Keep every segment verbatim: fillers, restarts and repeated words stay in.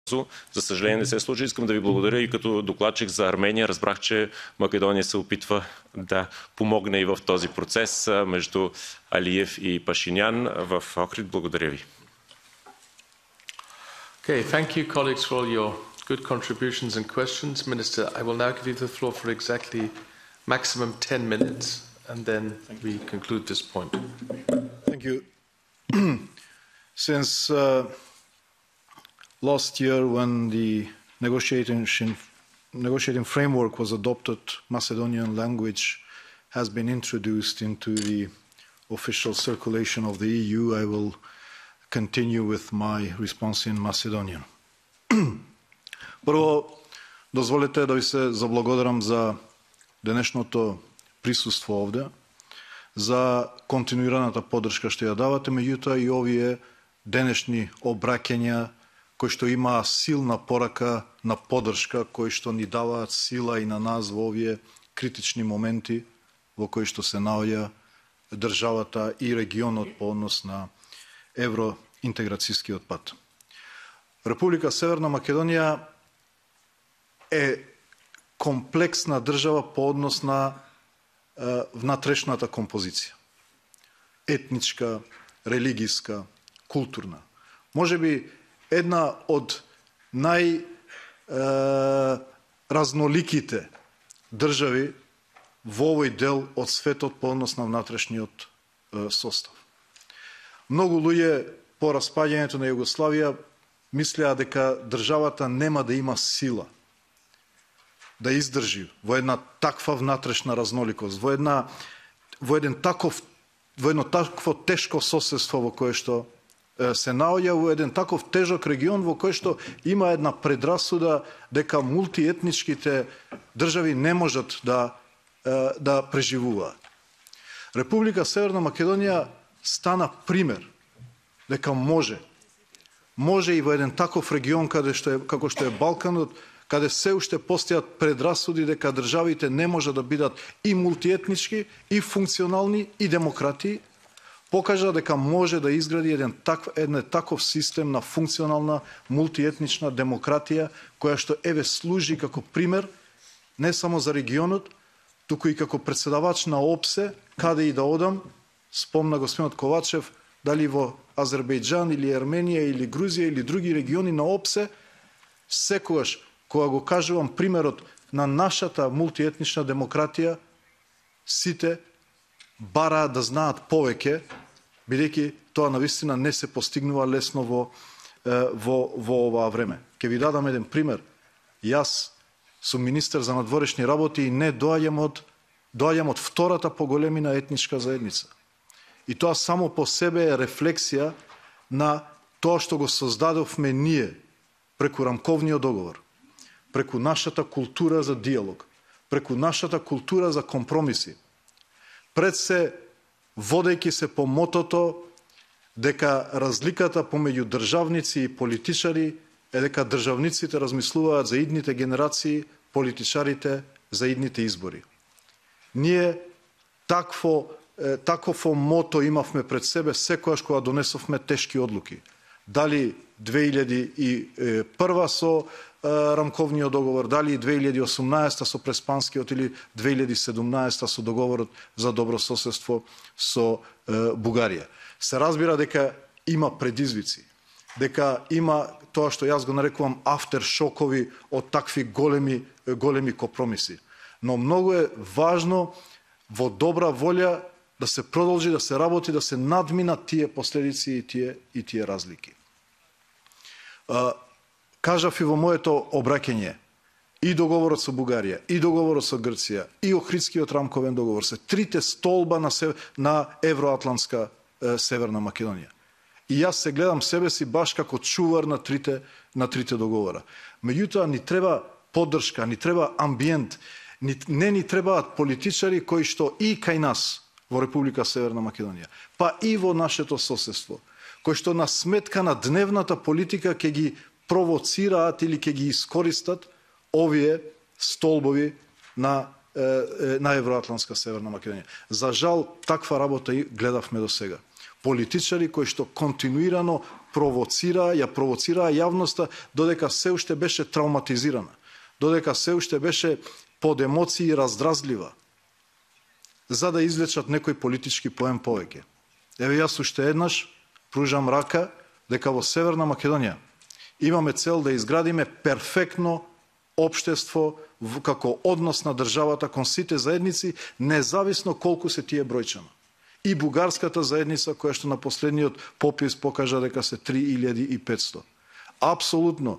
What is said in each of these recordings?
За съжаление не се случи. Искам да ви благодаря и като докладчик за Армения. Разбрах, че Македония се опитва да помогне и в този процес между Алиев и Пашинян в Охрид. Благодаря ви. Okay, thank you colleagues for all your good contributions and questions. Minister, I will now give you the floor for exactly maximum ten minutes and then we conclude this point. Thank you. Since uh, last year, when the negotiating, negotiating framework was adopted, Macedonian language has been introduced into the official circulation of the E U. I will continue with my response in Macedonian. Прво, дозволете да ви се заблагодарам за денешното присуство овде, за континуираната поддршка што ја давате, меѓутоа и овие денешни обраќања кои што има силна порака на поддршка, кои што ни даваат сила и на нас во овие критични моменти во кои што се наоѓа државата и регионот по однос на евроинтеграцијскиот пат. Република Северна Македонија е комплексна држава по однос на е, внатрешната композиција. Етничка, религијска, културна. Може би една од најразноликите држави во овој дел од светот по однос на внатрешниот е, состав. Многу луѓе по распаѓањето на Југославија мислеа дека државата нема да има сила да издржи во една таква внатрешна разноликост, во една во еден таков во едно такво тешко соседство во кое што се наоѓа, во еден таков тежок регион во кој што има една предрасуда дека мултиетничките држави не можат да да преживуваат. Република Северна Македонија стана пример дека може може и во еден таков регион каде што е како што е Балканот, каде се уште постојат предрасуди дека државите не може да бидат и мултиетнички, и функционални, и демократии, покажа дека може да изгради еден таков еден таков систем на функционална мултиетнична демократија која што еве служи како пример не само за регионот, туку и како претседавач на ОПСЕ, каде и да одам, спомна господинот Ковачев, дали во Азербејџан или Арменија или Грузија или други региони на ОПСЕ, секогаш кога го кажувам примерот на нашата мултиетнична демократија, сите бараат да знаат повеќе, бидејќи тоа навистина не се постигнува лесно во во во оваа време. Ќе ви дадам еден пример. Јас сум министер за надворешни работи и не доаѓам од доаѓам од втората поголемина етничка заедница. И тоа само по себе е рефлексија на тоа што го создадовме ние преку рамковниот договор, преку нашата култура за диалог, преку нашата култура за компромиси. Пред се водејќи се по мотото дека разликата помеѓу државници и политичари е дека државниците размислуваат за идните генерации, политичарите за идните избори. Ние такво такво мото имавме пред себе секогаш кога донесовме тешки одлуки. Дали две илјади и прва со рамковниот договор, дали две илјади и осумнаесета со Преспанскиот или две илјади и седумнаесета со договорот за добро соседство со Бугарија. Се разбира дека има предизвици, дека има тоа што јас го нарекувам афтершокови од такви големи големи компромиси. Но многу е важно во добра волја да се продолжи да се работи, да се надминат тие последици и тие и тие разлики. А, кажав и во моето обраќање, и договорот со Бугарија, и договорот со Грција, и Охридскиот рамковен договор се трите столба на, сев... на евроатлантска е, Северна Македонија. И јас се гледам себе си баш како чувар на трите на трите договора. Меѓутоа ни треба поддршка, ни треба амбиент, ни, не ни требаат политичари кои што и кај нас во Република Северна Македонија, па и во нашето соседство, кои што на сметка на дневната политика ќе ги провоцираат или ќе ги искористат овие столбови на на евроатлантска Северна Македонија. За жал таква работа и гледавме до сега. политичари кои што континуирано провоцира, ја провоцираа јавноста додека се уште беше травматизирана, додека се уште беше под емоции раздразлива, за да извлечат некој политички поен повеќе. Еве јас уште еднаш пружам рака дека во Северна Македонија имаме цел да изградиме перфектно општество како однос на државата кон сите заедници, независно колку се тие бројчано. И бугарската заедница, која што на последниот попис покажа дека се три илјади и петсто. Апсолутно,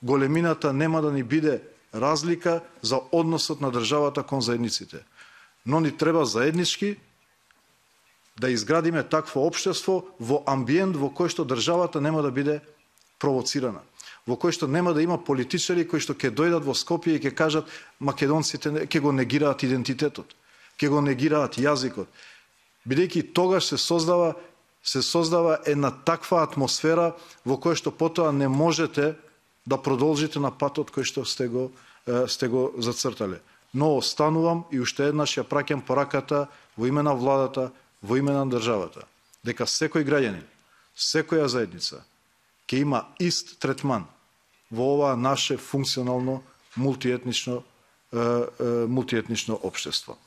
големината нема да ни биде разлика за односот на државата кон заедниците. Но ни треба заеднички да изградиме такво општество во амбиент во кој што државата нема да биде провоцирана, во кој што нема да има политичари кои што ќе дојдат во Скопје и ќе кажат македонците ќе го негираат идентитетот, ќе го негираат јазикот, бидејќи тогаш се создава се создава една таква атмосфера во која што потоа не можете да продолжите на патот кој што сте го сте го зацртале. Но останувам и уште еднаш ја праќам пораката во име на владата, во име на државата, дека секој граѓанин, секоја заедница ќе има ист третман во ова наше функционално мултиетнично мултиетнично општество.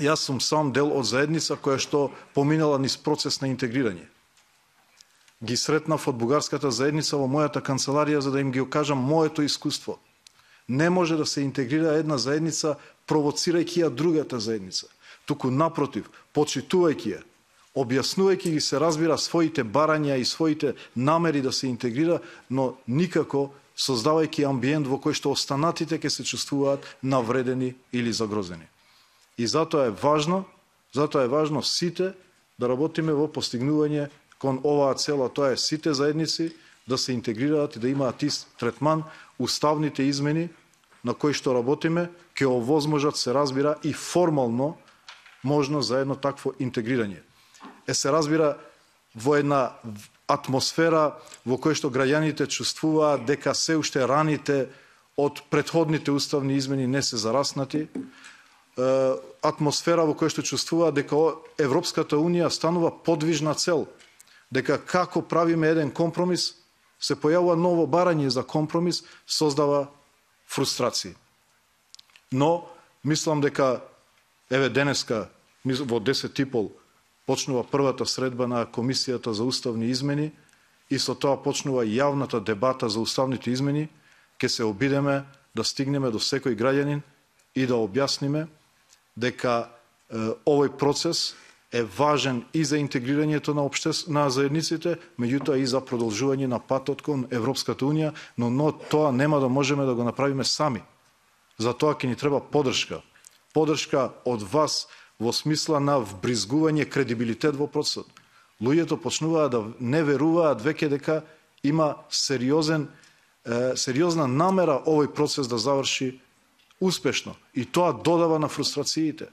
Јас сум сам дел од заедница која што поминала низ процес на интегрирање. Ги сретнав од бугарската заедница во мојата канцеларија за да им ги кажам моето искуство. Не може да се интегрира една заедница провоцирајќи ја другата заедница. Туку напротив, почитувајќи ја, објаснувајќи ги се разбира своите барања и своите намери да се интегрира, но никако создавајќи амбиент во кој што останатите ќе се чувствуваат навредени или загрозени. И затоа е важно, затоа е важно сите да работиме во постигнување кон оваа цела, тоа е сите заедници да се интегрираат и да имаат ист третман. Уставните измени на кои што работиме ќе овозможат, се разбира, и формално можно за едно такво интегрирање. Е се разбира во една атмосфера во која што граѓаните чувствуваат дека се уште раните од претходните уставни измени не се зараснати, атмосфера во која што чувствуваат дека Европската Унија станува подвижна цел, дека како правиме еден компромис, се појавува ново барање за компромис, создава фрустрации. Но, мислам дека, еве денеска, во десет и пол, почнува првата средба на Комисијата за уставни измени и со тоа почнува јавната дебата за уставните измени, ќе се обидеме да стигнеме до секој граѓанин и да објасниме дека е, овој процес е важен и за интегрирањето на, обштес... на заедниците, меѓутоа и за продолжување на патот кон Европската Унија, но, но тоа нема да можеме да го направиме сами. За тоа ќе ни треба поддршка. Поддршка од вас во смисла на вбризгување кредибилитет во процесот. Луѓето почнуваат да не веруваат веќе дека има сериозен, е, сериозна намера овој процес да заврши успешно. И тоа додава на фрустрациите.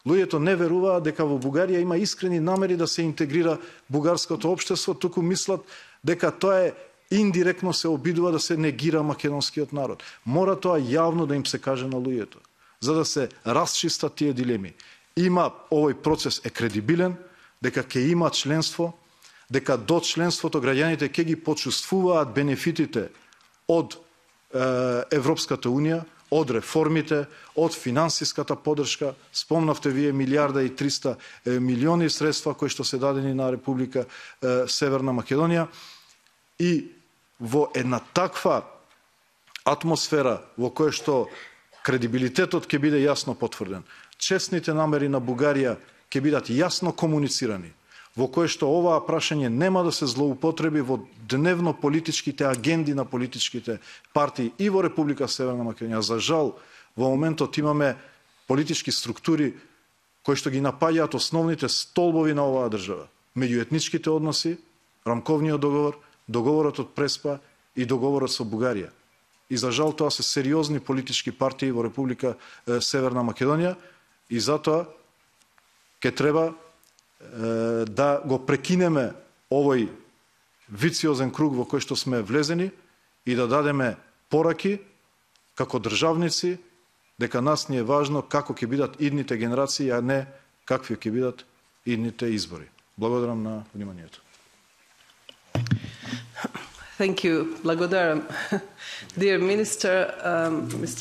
Луѓето не веруваат дека во Бугарија има искрени намери да се интегрира бугарското општество, туку мислат дека тоа е индиректно се обидува да се негира македонскиот народ. Мора тоа јавно да им се каже на луѓето, за да се расчистат тие дилеми. Има овој процес е кредибилен, дека ќе има членство, дека до членството граѓаните ќе ги почувствуваат бенефитите од е, Европската Унија, од реформите, од финансиската поддршка. Спомнавте вие милиарда и триста милиони средства кои што се дадени на Република е, Северна Македонија. И во една таква атмосфера во која што кредибилитетот ќе биде јасно потврден, честните намери на Бугарија ќе бидат јасно комуницирани, во кој што оваа прашање нема да се злоупотреби во дневно политичките агенди на политичките партии и во Република Северна Македонија. За жал, во моментот имаме политички структури кои што ги напаѓаат основните столбови на оваа држава. Меѓуетничките односи, рамковниот договор, договорот од Преспа и договорот со Бугарија. И за жал тоа се сериозни политички партии во Република Северна Македонија и затоа ќе треба да го прекинеме овој вициозен круг во кој што сме влезени и да дадеме пораки како државници дека нас ни е важно како ќе бидат идните генерации, а не какви ќе бидат идните избори. Благодарам на вниманието. Thank you. Благодарам. Dear Minister, um, Mister